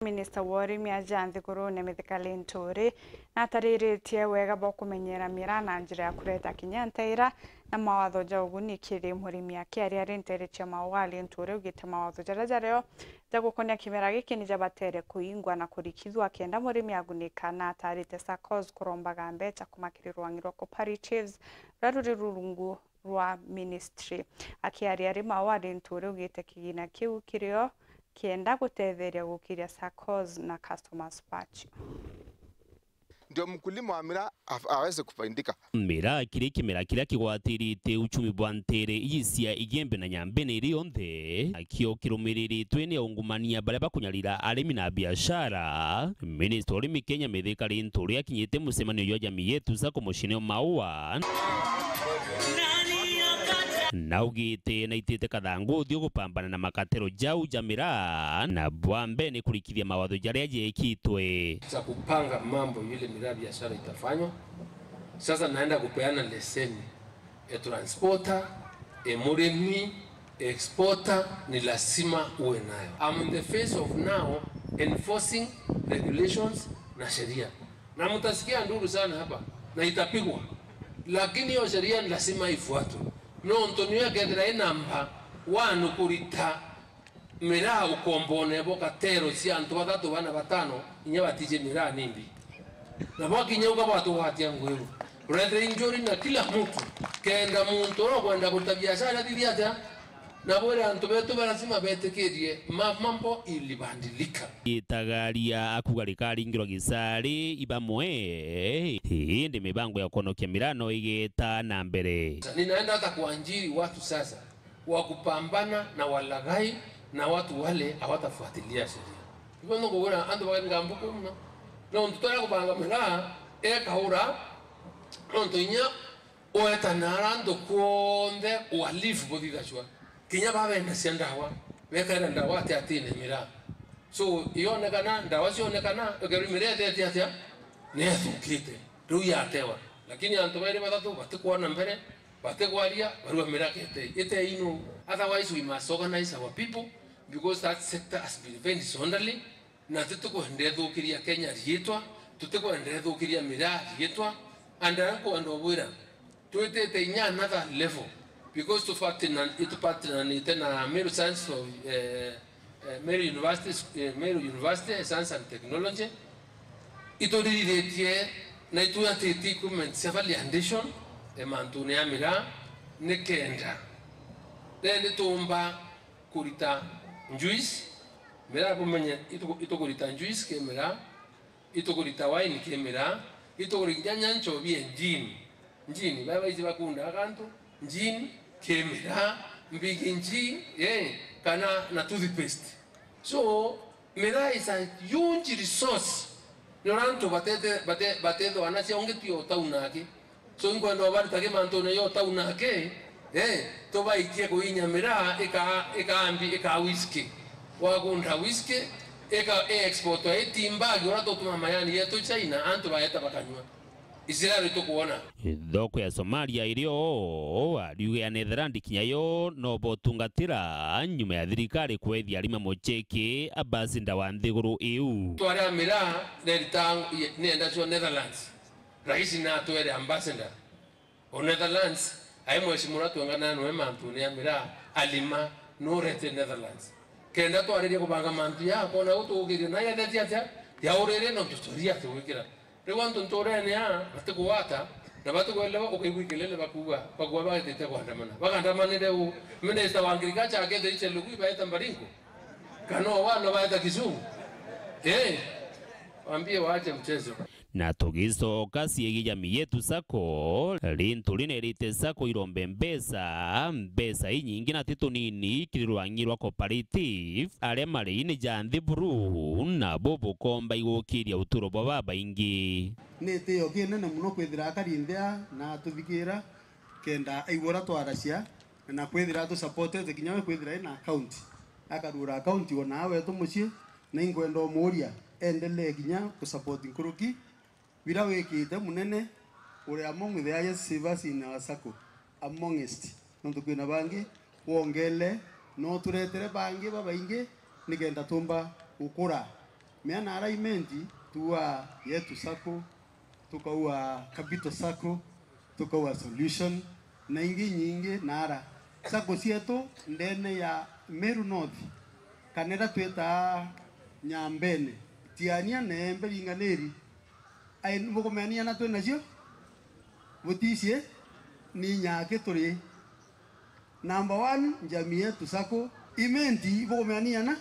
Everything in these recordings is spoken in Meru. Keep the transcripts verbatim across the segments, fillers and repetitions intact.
Minista wa urimi aja nthigurune Mithika Linturi natariritie wega bwa kumenyera miraa na njira ya kureta kinya nteira na mawatho ja uguni kiri murimi. Akiaria ari nteere cia Maua, Linturi augite mawatho jaria jario ja gukonia kimera giki ni jabatere kuingwa na kurikithua kenda murimi agunika, na atarite saccos kurombaga mbeca kuma kiri rwang'i rwa cooperatives ruria ruri rurungu rwa ministry. Akiaria ari Maua, Linturi augite kigina kiu kirio kienda gutetheria gukiria saccos na customers pacho. Ndio mkulima wa miraa af- aweze kufaidika. Miraa kiri kimera kiria kigwatirite uchumi bwa nteere iji cia Igembe na Nyambene iri yonthe, nakio kirumiriritwe ni aungumania baria bakunyarira arimi na biashara. Minista wa urimi Kenya Mithika Linturi akinyite mucemanio jwa Jamii Yetu Sacco muciine o Maua, naugite naitite kathangu uthio gupambana na makatero jau ja miraa, na bwa mbere ni kurikithia mawatho jaria jekitwe. Za kupanga mambo vile miraa biashara itafanywa. Sasa naenda kupeana leseni ya transporter, ya murimi, exporter, ni lazima uwe nayo. I'm in the phase of now enforcing regulations na sheria. Na mtasikia nduru sana hapa, na itapigwa. Lakini hiyo sheria ni lazima ifuatwe. Nontu niyo ikethira i namba one kurita miraa ukombone bo katero cia antu bathatu, bana, batano, inya batiji miraa nimbi. Na bwakinya uga bwatugwatia ngwiru. Urethire injuri na kila mtu, kenda muntu uria ukwenda kurita biashara athithie atia? Na bwire antu betu ba lazima betikirie ma- mambo ilibadilika. Itagaria akuga rikaringirwa gisari ibamwe, indi mibango ya kuonokia miraa no igeta na mbere. Ninaenda hata kuajiri watu sasa wa kupambana na walaghai na watu wale hawatafuatilia sheria. Hivyo ndio kuona antu bagenga mbuku mno. Nontu twara kubanga miraa ekaura, nontu inya wetana ara antu kuonthe uhalifu buthithacua. Kinya babendacia ndawa, bekaira ndawa ati atine miraa. So ionekana, ndawa cionekana, ekerwa miraa etete atia? Nethukite. Riu yatewa. Lakini antu bairi bathatu batikwona mbere, batigwaria, barua miraa kete ite inu. Otherwise we must organize our people because that sector has been very disorderly. Na tutikwenda ithukiria Kenya riitwa, tutikwenda ithukiria miraa riitwa, and nkwenda ubwira twitite inya another level because tupatina- itupatinanite na Meru Science of, eh, eh, Meru University, eh, Meru University Science and Technology. Ituririritie na itwatite equipment cia validation, eh, mantune ya miraa, nikenda then tuumba kurita juice, miraa bumenye ituku- itukurita juice ki miraa, itukurita wine ki miraa, itukurita nyancho bie gin, gin, baria baiji bakunda akantu, gin ki miraa, mbigi nji, eh, kana na toothpaste. So miraa is a huge resource. Ni uria antu batete- bate- batethwa nacio ungi ti o tauni aki. So inkwenda ubaritage mantune yo tauni aki, eh, tubaikie kuinya miraa ika- ikambi ika whisky. Wagunda whisky, ika i export ya itimbagi uria tutuma mayani yetu China, antu baeta bakanywa. Israel tukuona. Thoko ya Somalia iri o ariuge ya Netherland kinya yo no botungatira nyuma ya thirikari kwethia arima mucheki ambasinda wa nthiguru iu. Twari a miraa nerita nienda cio Netherlands. Rais natwere ambassador o Netherlands, ai mheshimiwa twengana nawe mantune ya miraa, alima, nurete Netherlands. Kenda twaririe kubanga mantu ya kona utugirie na yethetie atia, ya urire no tutoria tugwikira. Riu antu nturene aa batigwata na batikwelewa, ukaigua ikelele bakuuga, bakuuga baitite kwandamana. Bakandamanire u? Minister wa agriculture akethirite Lugui baeta Baringo? Kana o wana baeta Kisumu? Eh, waambie waache mchezo. Na tugicoka ciigi Jamii Yetu Sacco, Linturi nerite Sacco irombe mbeca, mbeca inyingi na ti tunini kiri rwang'i rwa cooperative, aria mari ni ja nthi buru, nabo bukomba igukiria uturo bwa babaingi. Ni itio kinene mono kwithira akari nthi aa na atuthikiira, kenda aigua uria twaracia, na kwithira atusupportete kinya we kwithira ena account, akarugura account o naa wetu mucii, na inkwenda umuuria endelee kinya kusupport nkuruki biria wikite munene uri among the highest savers in our sacco, amongst, nontu kwina bangi wongele, no turetere bangi babaingi nikenda tumba gukura Mea naara Imenti, tuaa Yetu Sacco, tukaua Capital Sacco, tukaua Solution, na ingi nyingi naara. Sacco cietu ndene ya Meru North, kana iria twitaa Nyambene, Tiania, Neembe, Ringaniri, ai, bukumeania na twi nacio? Buticiie? Ni nyaki turi. Number one, Jamii Yetu Sacco. Imenti, ibukumeania na?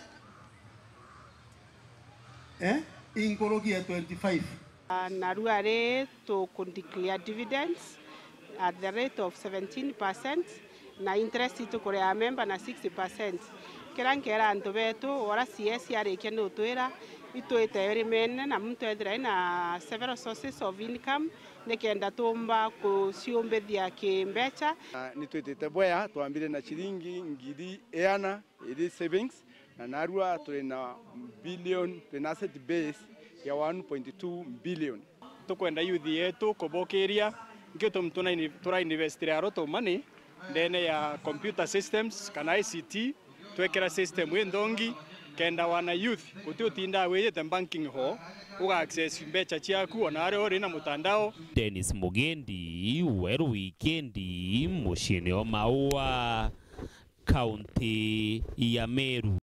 Eh? Inkuruki ya twenty-five. Ah, narua ri tuku declare dividends at the rate of seventeen percent, na interest itukurea member na sixty percent. Kiria nkeera antu betu, ora C S arikia ni utwira, itwite urimene na muntu ethira ina several sources of income, nikenda tuumba kuciumbithia kimbeca. Na ni twitite bwea, twambire na ciringi ngiri iana iri savings, na narua turi na billion, turi na asset base ya one point two billion. Tukwenda youth yetu kubukiria, nki gitumi tuna-, turainvestire a lot of money ndene ya computer systems kana I C T, twekera system inthongi, kenda wana youth guti utindaa wijite banking hall, uga access mbeca ciaku ona aria uri na mutandao. Dennis Mugendi, Weru Wikendi, muciini o Maua, kaunti ya Meru.